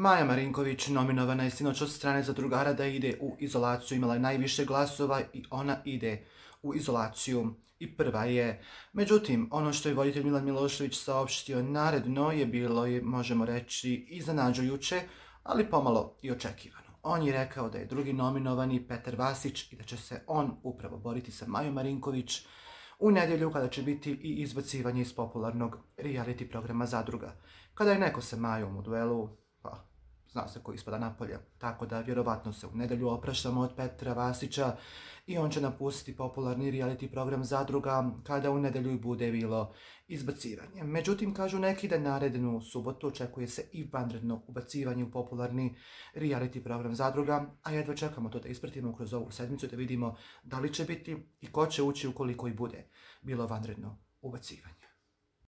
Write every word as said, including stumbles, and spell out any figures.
Maja Marinković nominovana je sinoć od strane zadrugara da ide u izolaciju, imala je najviše glasova i ona ide u izolaciju i prva je. Međutim, ono što je voditelj Milan Milošević saopštio naredno je bilo, je, možemo reći, iznenađujuće, ali pomalo i očekivano. On je rekao da je drugi nominovani Petar Vasić i da će se on upravo boriti sa Majom Marinković u nedjelju kada će biti i izbacivanje iz popularnog reality programa Zadruga. Kada je neko sa Majom u duelu, pa zna se ko ispada napolje, tako da vjerovatno se u nedjelju opraštamo od Petra Vasića i on će napustiti popularni reality program Zadruga kada u nedjelju bude bilo izbacivanje. Međutim, kažu neki da narednu subotu očekuje se i vanredno ubacivanje u popularni reality program Zadruga, a jedva čekamo to da ispratimo kroz ovu sedmicu da vidimo da li će biti i ko će ući ukoliko i bude bilo vanredno ubacivanje.